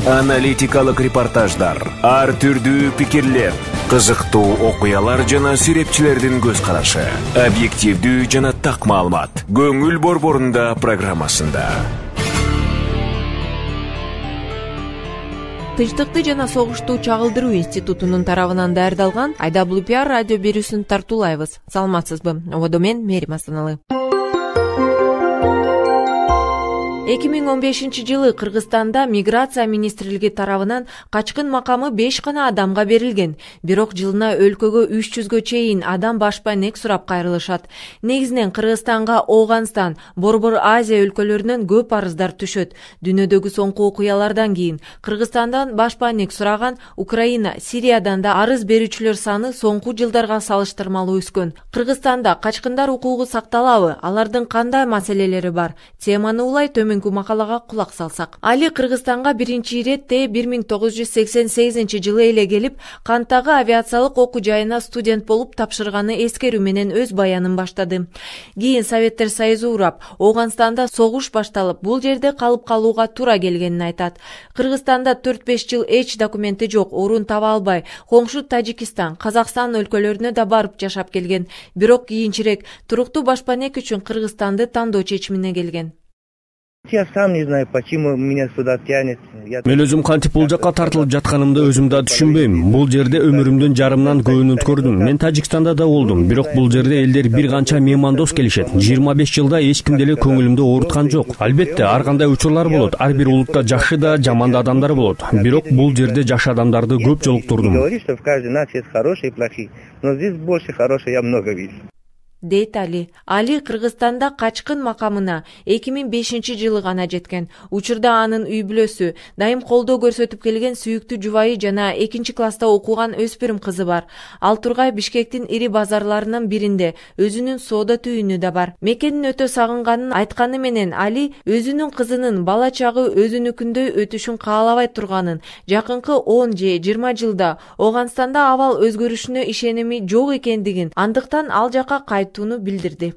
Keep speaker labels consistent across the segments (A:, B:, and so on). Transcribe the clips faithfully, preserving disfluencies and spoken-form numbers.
A: Аналитикалык репортаждар, ар түрдүү пикирлер, кызыктуу окуялар жана сүрөтчүлөрдүн көз карашы, объективдүү жана так маалымат. Көңүл борборунда программасында.
B: Тынчтыкты жана согушту чагылдыруу институтунун тарабынан даярдалган ай дабл ю пи ар радио берүүсүн тартуулайбыз. Саламатсызбы? Ободо мен Мерим Асаналы. эки миң он бешинчи жылы Кыргызстанда миграция министрлиги тарабынан качкын макамы беш гана адамга берилген. Бирок жылына өлкөгө үч жүзгө чейин адам башпанек сурап кайрылышат. Негизинен Кыргызстанга Ооганстан, Борбор Азия өлкөлөрүнөн көп арыздар түшөт. Дүйнөдөгү соңку окуялардан кийин Кыргызстандан башпанек сураган Украина, Сириядан да арыз берүүчүлөр саны соңку жылдарга салыштырмалуу өскөн. Кыргызстанда качкындар укугу сакталабы? Алардын кандай маселелери бар? Теманы улай төмөн макалага кулак салсак. Али Кыргызстанга биринчи иретте бир миң тогуз жүз сексен сегизинчи жылы эле келип, Канттагы авиациялык окуу жайына студент болуп тапшырганы эскерүү менен өз баянын баштады. Кийин Советтер Союзу урап, Ооганстанда согуш башталып, бул жерде калып калууга туура келгенин айтат. Кыргызстанда төрт беш жыл эч документи жок, орун таба албай, коңшу Тажикистан, Казакстан өлкөлөрүнө да барып жашап келген. Бирок кийинчерээк туруктуу башпанек үчүн Кыргызстанды тандоо чечимине келген.
C: Я сам не знаю, почему меня сюда тянет.
D: Мен өзүм кантип бул жакка тартылып жатканымды өзүм да түшүнбөйм. Бул жерде өмүрүмдүн жарымынан көбүн өткөрдүм. Мен Тажикстанда да болдум, бирок бул жерде элдер бир канча меймандос келишет. жыйырма беш жылда эч ким деле көңүлүмдү ооруткан жок. Албетте, ар кандай учурлар болот. Ар бир улутта жакшы да, жаман да адамдар болот. Бирок бул жерде жакшы адамдарды көп жолуктурдум.
C: Говорит, что в каждой нации есть хорошие и плохие, но здесь больше хороших я много вижу.
B: Дейт Али. Али Кыргызстанда качкын макамына эки миң бешинчи жылы гана жеткен. Учурда анын үй бүлөсү, дайым колдоо көрсөтүп келген сүйүктүү жубайы жана экинчи класста окуган өспүрүм кызы бар. Ал тургай Бишкектин ири базарларынын биринде өзүнүн соода түйүнү да бар. Мекенин өтө сагынганын айтканы менен Али өзүнүн кызынын бала чагы өзүнүкүндөй өтүшүн каалабай турганын, жакынкы он же жыйырма жылда Ооганстанда абал өзгөрүшүнө ишеними жок экендигин, андыктан ал жака кайтууну билдирди.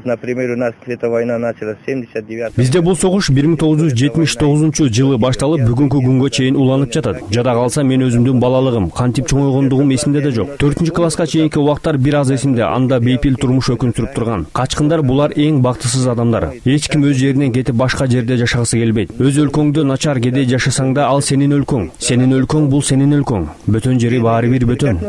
C: Например, у нас эта война началась в семьдесят девятом.
D: Бизде бул согуш бир миң тогуз жүз жетимиш тогузунчу жылы башталып, бүгүнкү күнгө чейин уланып жатат. Жада калса мен өзүмдүн балалыгым, кантип чоңойгондугум эсимде да жок. төртүнчү класска чейинки убактар бир аз эсимде, анда бейпил турмуш өкүн сүрүп турган. Качкындар булар эң бактысыз адамдар. Эч ким өз жеринен кетип башка жерде жашагысы келбейт. Өз өлкөңдө начар кедей жашасаң да ал сенин өлкөң. Сенин өлкөң бул сенин өлкөң. Бөтөн жери баары бир бөтөн.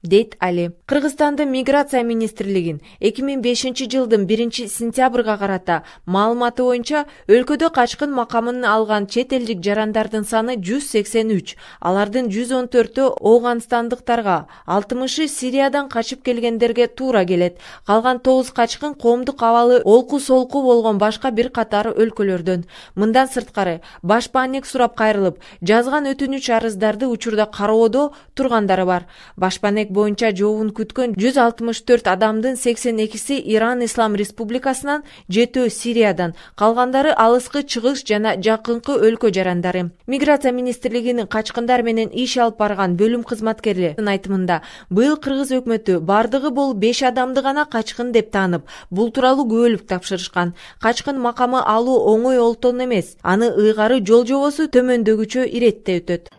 B: Дейт Али. Кыргызстандын миграция министрлигин эки миң бешинчи жылдын биринчи сентябрга карата маалыматы боюнча өлкөдө качкын макамын алган чет элдик жарандардын саны жүз сексен үч. Алардын жүз он төртү ооганстандыктарга, алтымышы Сириядан качып келгендерге туура келет. Калган тогуз качкын коомдук абалы олку-солку болгон башка бир катар өлкөлөрдөн. Мындан сырткары башпанек сурап кайрылып, жазган өтүнүч арыздарды учурда кароодо тургандары бар. Башпанек боюнча жообун күткөн жүз алтымыш төрт адамдын сексен экиси Иран Ислам Республикасынан, жетөө Сириядан, калгандары алыскы чыгыш жана жакынкы өлкө жарандары. Миграция министрлигинин качкындар менен иш алып барган бөлүм кызматкерлеринин айтымында, быйыл кыргыз өкмөтү бардыгы бул беш адамды гана качкын деп таанып, бул тууралуу күбөлүк тапшырышкан. Качкын макамы алуу оңой олтон эмес. Аны ыйгары жол жобосу төмөндөгүчө иретте өтөт.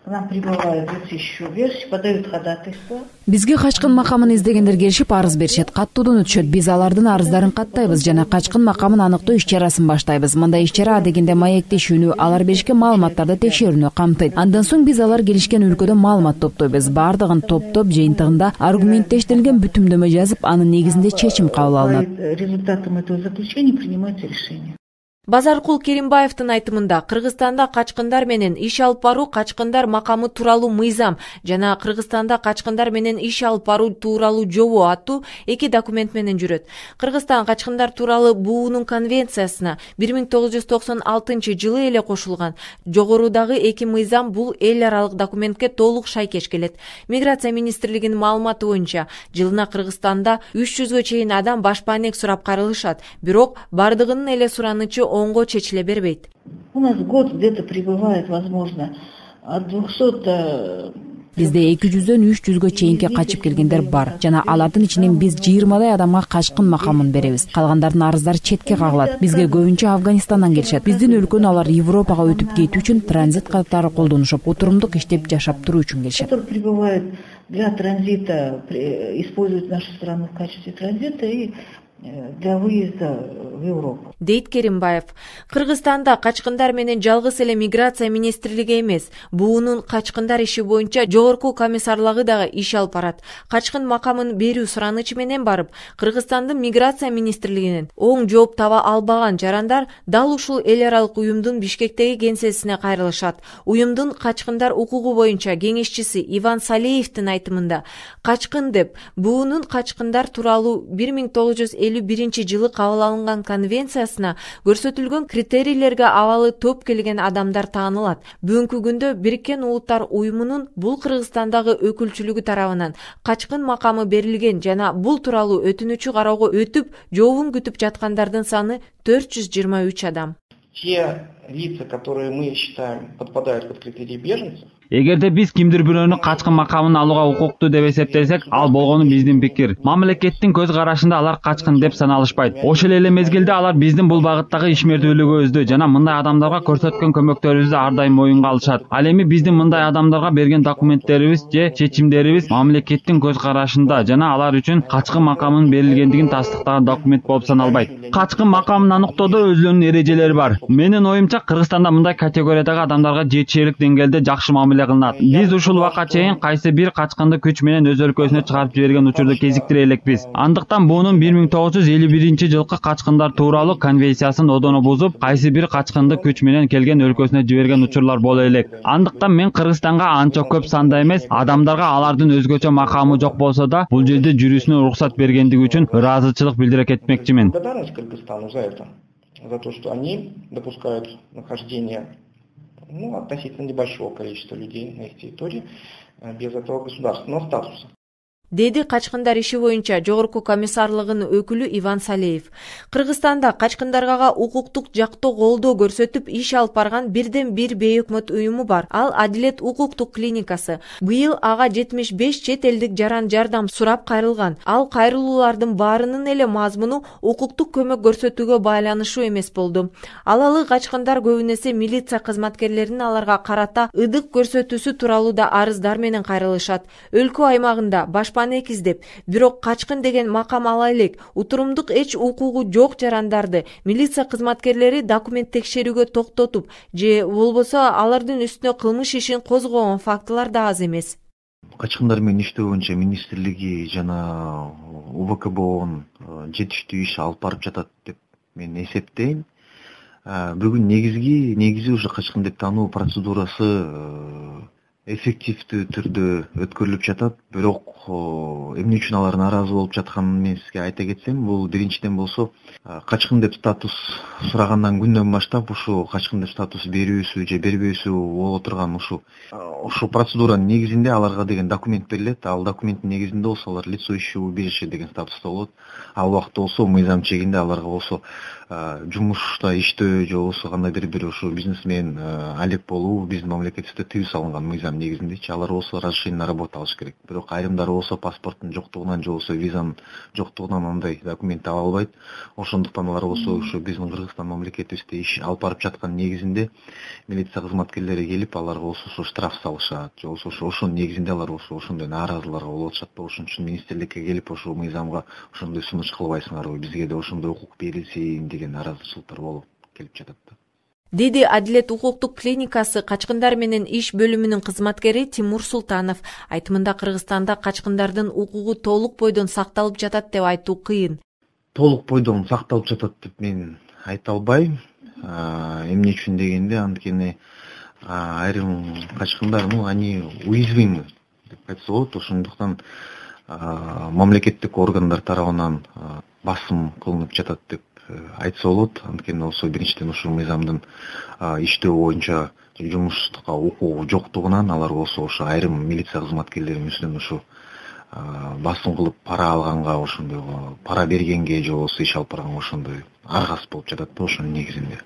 E: Бизге качкын макамын издегендер келишип арыз беришет, каттоодон өтүшөт. Биз алардын арыздарын каттайбыз жана качкын макамын аныктоо иш-чарасын баштайбыз. Мындай иш-чара адегенде маектешүүнү, алар беришкен маалыматтарды текшерүүнү камтыйт. Андан соң биз алар келишкен өлкөдө маалымат топтойбуз. Бардыгын топтоп, жыйынтыгында аргументтештирилген бүтүмдөмө жазып, анын негизинде чечим кабыл алынат.
F: Результатом этого заключения принимается решение.
B: Базаркул Керимбаевдин айтымында Кыргызстанда качкындар менен иш алып баруу качкындар макамы тууралуу мыйзам жана Кыргызстанда качкындар менен иш алып баруу тууралуу жобо аттуу эки документ менен жүрөт. Кыргызстан качкындар тууралуу буунун конвенциясына бир миң тогуз жүз токсон алтынчы жылы эле кошулган. Жогорудагы эки мыйзам бул эл аралык документке толук шайкеш келет. Миграция министрлигинин маалыматы боюнча жылына Кыргызстанда үч жүзгө чейин адам башпанек сурап кайрылышат, бирок бардыгынын эле суранычы оңго чечиле бербейт.
F: У нас год где-то прибывает, возможно, от двухсот
E: Бизде эки жүздөн үч жүзгө чейинки качып келгендер бар жана алардын ичинен биз жыйырмадай адамга качкын макамын беребиз. Калгандардын арыздары четке кагылат. Бизге көбүнчө Афганистандан келишет. Биздин өлкөнү алар Европага өтүп кетүү үчүн транзит катары колдонушуп, отурумдук иштеп жашап туруу үчүн келишет.
F: Для транзита используют нашу страну в качестве транзита и для выезда в Европу.
B: Дейт Керимбаев. Кыргызстанда качкындар менен жалгыз эле миграция министрлиги эмес, буунун качкындар иши боюнча жогорку комиссарлыгы дагы иш алып барат. Качкын макамын берүү суранычы менен барып, Кыргызстандын миграция министрлигинен оң жооп таба албаган жарандар дал ушул эл аралык уюмдун Бишкектеги кеңсесине кайрылышат. Уюмдун качкындар укугу боюнча кеңешчиси Иван Салеевдин айтымында, качкын деп буунун качкындар тууралуу бир миң тогуз жүз элүү биринчи жылы кабыл алынган конвенциясына көрсөтүлгөн критерийлерге абалы топ келген адамдар таанылат. Бүгүнкү күндө Бириккен Улуттар уюмунун бул Кыргызстандагы өкүлчүлүгү тарабынан качкын макамы берилген жана бул тууралуу өтүнүчү кароого өтүп, жообун күтүп жаткандардын саны төрт жүз жыйырма үч адам.
G: Те лица, которые мы считаем подпадают под критерии беженцев,
H: Эгерде биз кимдир бирөөнү качкын макамын алууга укуктуу деп эсептесек, ал болгону биздин пикир. Мамлекеттин көз карашында алар качкын деп саналышпайт. Ошол эле мезгилде алар биздин бул багыттагы ишмердүүлүгүбүздү жана мындай адамдарга көрсөткөн көмөктөрүбүздү ар дайым моюнга алышат. Ал эми биздин мындай адамдарга берген документтерибиз же чечимдерибиз мамлекеттин көз карашында жана алар үчүн качкын макамын берилгендигин тастыктаган документ болуп саналбайт. Качкын макамын аныктоодо өзүнүн эрежелери бар. Менин оюмча Кыргызстанда мындай категориядагы адамдарга жетишерлик деңгээлде жакшы мамиле кылынат. Биз ушул убакка чейин кайсы бир качкынды күч менен өз өлкөсүнө чыгарып жиберген учурду кезиктире элекпиз. Андыктан буунун бир миң тогуз жүз элүү биринчи жылкы качкындар тууралуу конвенциясын одоно бузуп, кайсы бир качкынды күч менен келген өлкөсүнө жиберген учурлар боло элек. Андыктан мен Кыргызстанга анча көп санда эмес, адамдарга алардын өзгөчө макамы жок болсо да, бул жерде жүрүүсүнө уруксат бергендиги үчүн ыраазычылык билдире кетмекчимин.
G: Благодарность Кыргызстану за это, за то, что они допускают нахождение ну, относительно небольшого количества людей на их территории без этого государственного статуса.
B: Деди качкындар иши боюнча жогорку комиссарлыгынын өкүлү Иван Салеев. Кыргызстанда качкындарга укуктук жактоо колдоо көрсөтүп иш алып барган бирден бир бейөкмөт уюму бар. Ал Адилет укуктук клиникасы. Быйыл ага жетимиш беш чет элдик жаран жардам сурап кайрылган. Ал кайрылуулардын баарынын эле мазмуну укуктук көмөк көрсөтүүгө байланыштуу эмес болду. Алалы качкындар көбүн эсе милиция кызматкерлеринин аларга карата ыдык көрсөтүүсү тууралуу да арыздар менен кайрылышат. Өлкө аймагында башпана издеп, бирок качкын деген макам ала элек, утурумдук эч укугу жок жарандарды милиция кызматкерлери документ текшерүүгө токтотуп, же болбосо алардын үстүнө кылмыш ишин козгогон фактылар да аз эмес.
I: Качкындар менен иштөө боюнча министрлиги жана У Б К Б жетиштүү иш алып барып жатат деп мен эсептейм. Бүгүн негизги негизи ушу качкын деп тануу процедурасы эффективдүү түрдө өткөрүлүп жатат. Бирок эмне үчүн алар нааразы болуп жатканын мен сизге айта кетсем, бул биринчиден болсо качкын деп статус сурагандан күндөн баштап ушу качкын деп статус берүүсү же бербөөсү боло турган ушу ушу процедуранын негизинде аларга деген документ берилет. Ал документтин негизинде болсо алар лицо ищущего убежища деген статуста болот. Ал убакта болсо мыйзам чегинде аларга болсо жумушта иштөө же болбосо кандайдыр бир ушу бизнес менен алек болуу биздин мамлекетибизде тыюу салынган мыйзам негизиндечи. Алар болсо разрешение на работу алыш керек. Бирок айрымдары болсо паспорттун жоктугунан же болбосо визанын жоктугунан андай документ ала албайт. Ошондуктан алар болсо ушу биздин Кыргызстан мамлекетибизде иш алып барып жаткан негизинде милиция кызматкерлери келип аларга болсо ушу штраф салышат же болбосо ошонун негизинде алар болсо ошондой нааразыларга болуп атышат да. Ошон үчүн министрликке келип ошол мыйзамга ошондой сунуш кылбайсыңарбы, бизге да ошондой укук берилсин деген нааразычылыктар болуп келип жатат да.
B: Деди Адилет укуктук клиникасы качкындар менен иш бөлүмүнүн кызматкери Тимур Султанов. Айтымында Кыргызстанда качкындардын укугу толук бойдон сакталып жатат деп айтуу кыйын.
I: Толук бойдон сакталып жатат деп мен айта албайм. Эмне үчүн дегенде, анткени айрым качкындар, ну, они уязвимы деп айтса болот. Ошондуктан мамлекеттик органдар тарабынан басым кылынып жатат деп айтса болот. Анткени болсо биринчиден ушул мыйзамдын иштөө боюнча жумуштукка укугу жоктугунан алар болсо ошо айрым милиция кызматкерлеринин үстүнөн ушу басым кылып пара алганга, ошондой пара бергенге же болбосо иш алып барганга ошондой аргас болуп жатат да ошонун негизинде.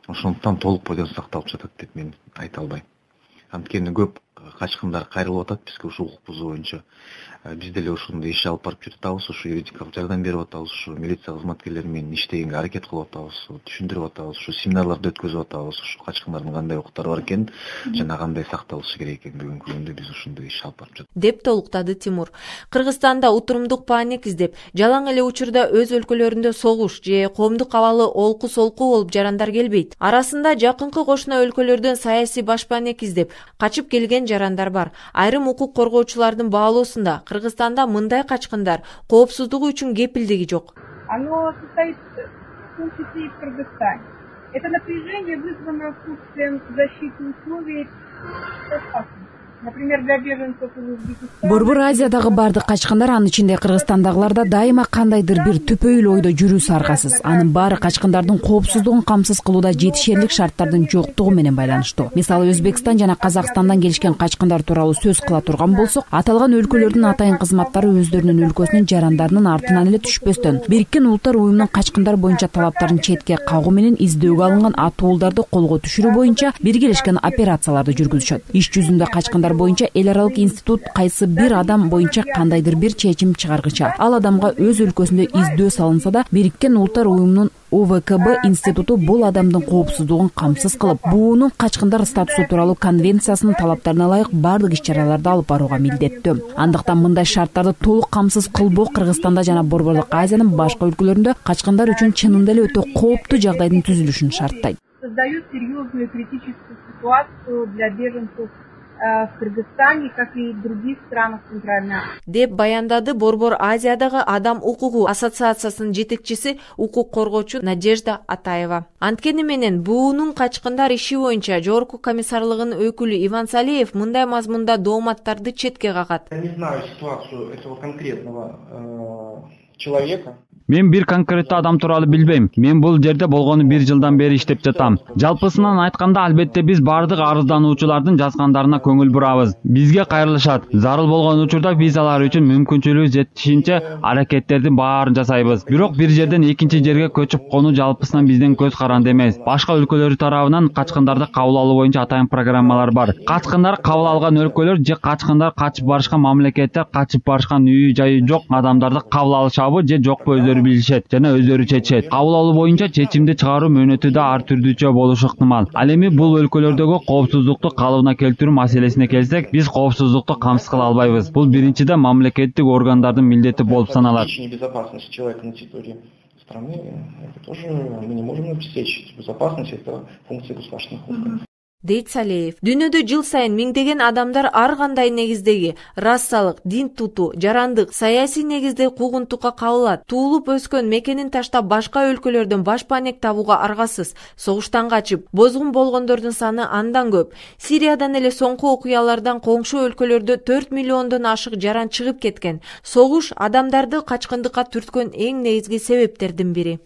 I: Ошондуктан толук бойдон сакталып жатат деп мен айта албайм. Анткени көп качкындар кайрылып атат бизге ушу укук бузуу боюнча. Биз деле ошондой иш алып барып жатабыз, ушу юридикалык жардам берип атабыз, ушу милиция кызматкерлери менен иштегенге аракет кылып атабыз, түшүндүрүп атабыз, ушу семинарларды өткөзүп атабыз, ушу качкындардын кандай укуктары бар экенин жана кандай сакталышы керек экенин бүгүнкү күндө биз ушундай иш алып барып жатабыз
B: деп толуктады Тимур. Кыргызстанда утурумдук паник издеп, жалаң эле учурда өз өлкөлөрүндө согуш же коомдук абалы олку-солку болуп жарандар келбейт. Арасында жакынкы кошуна өлкөлөрдөн саясий баш паник издеп качып келген жарандар бар. Айрым укук коргоочулардын баалоосунда Кыргызстанда мындай качкындар коопсуздугу үчүн кепилдиги жок.
J: Оно состоит в том числе и в Кыргызстане. Это напряжение вызвано отсутствием защиты условий. Например, для беженцев из Узбекистана.
E: Борбор Азиядагы бардык качкындар, анын ичинде Кыргызстандагыларда дайыма кандайдыр бир түпөйлүү ойдо жүрүүсү аргасыз. Анын баары качкындардын коопсуздугун камсыз кылууда жетишерлик шарттардын жоктугу менен байланыштуу. Мисалы, Өзбекстан жана Казакстандан келишкен качкындар тууралуу сөз кыла турган болсок, аталган өлкөлөрдүн атайын кызматтары өздөрүнүн өлкөсүнүн жарандарынын артынан эле түшпөстөн Бириккен Улуттар Уюмунун качкындар боюнча талаптарын четке кагуу менен издөөгө алынган атуулдарды колго түшүрүү боюнча биргелешкен операцияларды жүргүзүшөт. Иш жүзүндө качкындар боюнча эл аралык институт кайсы бир адам боюнча кандайдыр бир чечим чыгаргыча ал адамга өз өлкөсүндө издөө салынса да, Бириккен Улуттар Уюмунун У В К Б институту бул адамдын коопсуздугун камсыз кылып, буунун качкындар статусу тууралуу конвенциясынын талаптарына ылайык бардык иш-чараларды алып барууга милдеттүү. Андыктан мындай шарттарды толук камсыз кылбоо Кыргызстанда жана Борборлук Азиянын башка өлкөлөрүндө качкындар үчүн чынында эле өтө кооптуу жагдайдын түзүлүшүн шарттайт.
J: Создает серьезную критическую ситуацию для беженцев в Кыргызстане, как и в других странах Центральной Азии.
B: деп баяндады Борбор Азиядагы Адам укугу ассоциациясынын жетекчиси, укук коргоочу Надежда Атаева. Анткени менен буунун качкындар иши боюнча Жогорку комиссарлыгынын өкүлү Иван Салеев мындай мазмунда дооматтарды четке кагат.
G: Я не знаю ситуацию этого конкретного человека.
H: Мен бир конкреттүү адам тууралуу билбейм. Мен бул жерде болгону бир жылдан бери иштеп жатам. Жалпысынан айтканда, албетте биз бардык арыздануучулардын жазгандарына көңүл бурабыз. Бизге кайрылышат. Зарыл болгон учурда биз алар үчүн мүмкүнчүлүгү жетишинче аракеттердин баарын жасайбыз. Бирок бир жерден экинчи жерге көчүп конуу жалпысынан биздин көз каранды эмес. Башка өлкөлөр тарабынан качкындарды кабыл алуу боюнча атайын программалар бар. Качкындар кабыл алган өлкөлөр же качкындар качып барышкан мамлекеттер качып барышкан үй жайы жок адамдарды кабыл алышабы же жокпу өздөрү билишет жана өздөрү чечет. Кабыл алуу боюнча чечимди чыгаруу мөөнөтү да ар түрдүүчө болушу ыктымал. Ал эми бул өлкөлөрдөгү коопсуздукту калыбына келтирүү маселесине келсек, биз коопсуздукту камсыз кыла албайбыз. Бул биринчиден мамлекеттик органдардын милдети болуп саналат.
G: Безопасность человека на территории страны, это тоже мы не можем обеспечить. Безопасность — это функция государственных органов.
B: дейт Салеев. Дүйнөдө жыл сайын миңдеген адамдар ар кандай негиздеги расалык, дин тутуу, жарандык, саясий негизде куугунтукка кабылат. Туулуп өскөн мекенин таштап башка өлкөлөрдөн баш паник табууга аргасыз. Согуштан качып, бозгун болгондордун саны андан көп. Сириядан эле соңку окуялардан коңшу өлкөлөрдө төрт миллиондон ашык жаран чыгып кеткен. Согуш адамдарды качкындыкка түрткөн эң негизги себептердин бири.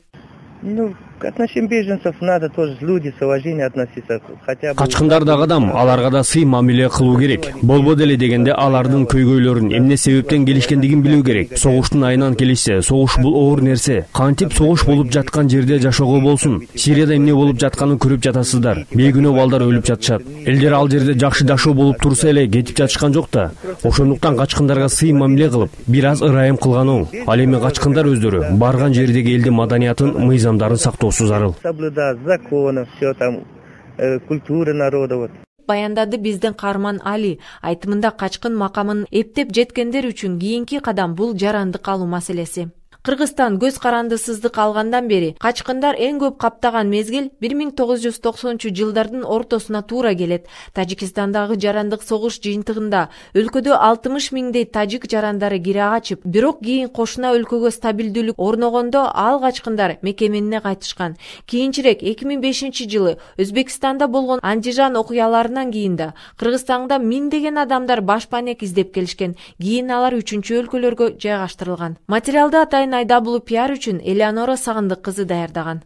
C: Ну, к отношению беженцев надо тоже люди с уважением относиться, хотя бы.
D: Качкындар да адам, аларга да сый мамиле кылуу керек. Болбо деле дегенде алардын көйгөйлөрүн, эмне себептен келишкендигин билүү керек. Согуштун айынан келишсе, согуш бул оор нерсе. Кантип согуш болуп жаткан жерде жашоого болсун. Сирияда эмне болуп жатканын көрүп жатасыздар. Бейгүнөө балдар өлүп жатышат. Элдер ал жерде жакшы жашоо болуп турса эле кетип жатышкан жок да. Ошондуктан качкындарга сый мамиле кылып, бир аз ырайым кылган оң. Ал эми качкындар өздөрү барган жердеги элдин маданиятын, мыйзамдарын сактоосу зарыл.
C: Соблюдать законы, все там, э, культуры народа вот.
B: Баяндады биздин каарман Али. Айтымында качкын макамын эптеп жеткендер үчүн кийинки кадам бул жарандык алуу маселеси. Кыргызстан көз карандысыздык алгандан бери качкындар эң көп каптаган мезгил бир миң тогуз жүз токсонунчу жылдардын ортосуна туура келет. Тажикстандагы жарандык согуш жыйынтыгында өлкөдө алтымыш миңдей тажик жарандары кире качып, бирок кийин кошуна өлкөгө стабилдүүлүк орногондо ал качкындар мекенине кайтышкан. Кийинчерээк эки миң бешинчи жылы Өзбекстанда болгон Андижан окуяларынан кийин да Кыргызстанда миңдеген адамдар баш паник издеп келишкен. Кийин алар үчүнчү өлкөлөргө жайгаштырылган. Материалды атайын ай дабл ю пи ар үчүн Элеонора Сагындык кызы даярдаган.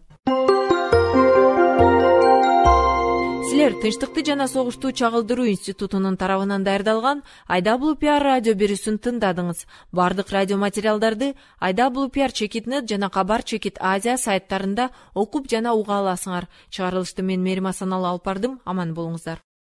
B: Силер Тынчтыкты жана согушту чагылдыруу институтунун тарабынан даярдалган ай дабл ю пи ар радио берүүсүн тыңдадыңыз. Бардык радио материалдарды ай дабл ю пи ар чекит нет жана Кабар чекит Азия сайттарында окуп жана уга аласыңар. Чыгарылышты мен Мерим Асаналы алып бардым. Аман болуңуздар.